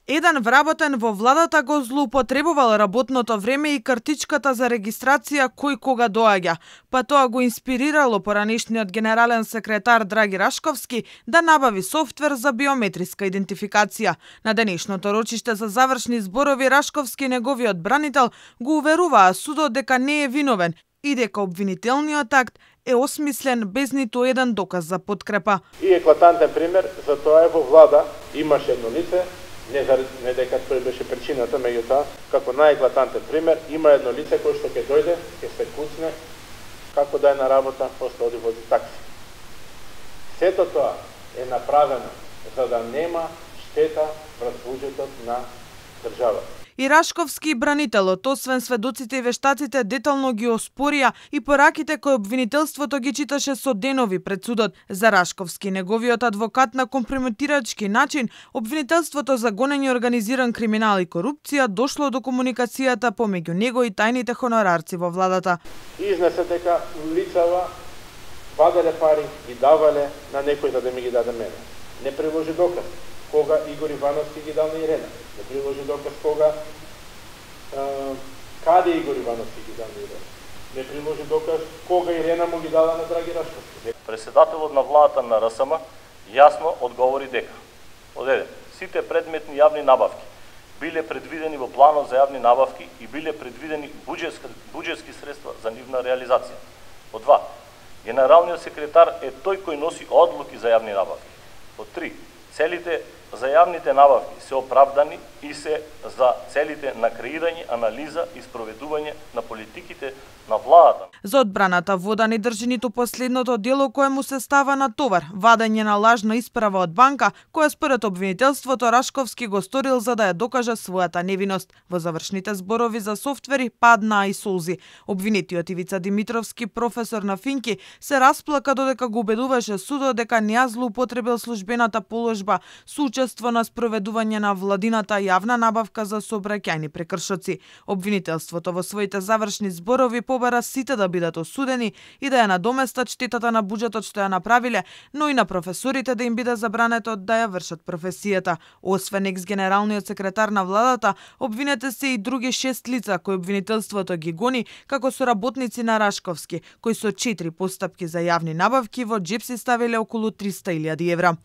Еден вработен во владата го злоупотребувал работното време и картичката за регистрација кој кога доаѓа, па тоа го инспирирало поранешниот генерален секретар Драги Рашковски да набави софтвер за биометриска идентификација. На денешното рочиште за завршни зборови Рашковски, неговиот бранител, го уверуваа судот дека не е виновен и дека обвинителниот акт е осмислен без ниту еден доказ за подкрепа. И еклатантен пример за тоа е во влада имаше едно лице, не дека тој беше причината, меѓутоа, како најеклатантен пример, има едно лице кој што ќе дојде, ќе се куцне, како да е на работа, после оди вози такси. Сето тоа е направено за да нема штета врз буџетот на државата. И Рашковски и бранителот, освен сведоците и вештаците, детално ги оспорија и пораките кои обвинителството ги читаше со денови пред судот. За Рашковски, неговиот адвокат, на компрометирачки начин, обвинителството за гонење организиран криминал и корупција дошло до комуникацијата помеѓу него и тајните хонорарци во владата. Изнесе дека лицава ваделе пари и давале на некој за да ми ги даде мене. Не приложи доказ кога Игор Ивановски ги дал на Ирена. Не приложи доказ кога каде Игор Ивановски ги дал на Ирена. Не приложи доказ кога Ирена му ги дала на Драги Рашковски. Председателот на владата на РСМ јасно одговори дека од еден, сите предметни јавни набавки биле предвидени во планот за јавни набавки и биле предвидени буџетски средства за нивна реализација. Од два, генералниот секретар е тој кој носи одлуки за јавни набавки. Од три, целите за јавните набавки се оправдани и се за целите на креирање, анализа и спроведување на политиките на владата. За одбраната вода не држи ниту последното дело кое му се става на товар, вадење на лажна исправа од банка, која според обвинителството Рашковски го сторил за да ја докаже својата невиност. Во завршните зборови за софтвери паднаа и солзи. Обвинетиот Ивица Димитровски, професор на Финки, се расплака додека го убедуваше судот дека не ја злоупотребил службената положба со учество на спроведување на владината јавна набавка за сообраќајни прекршоци. Обвинителството во своите завршни зборови побара сите да бидат осудени и да ја надоместат штетата на буџетот што ја направиле, но и на професорите да им биде забрането да ја вршат професијата. Освен екс-генералниот секретар на владата, обвинете се и други 6 лица кои обвинителството ги гони како соработници на Рашковски, кои со 4 постапки за јавни набавки во џеп си ставиле околу 300.000 евра.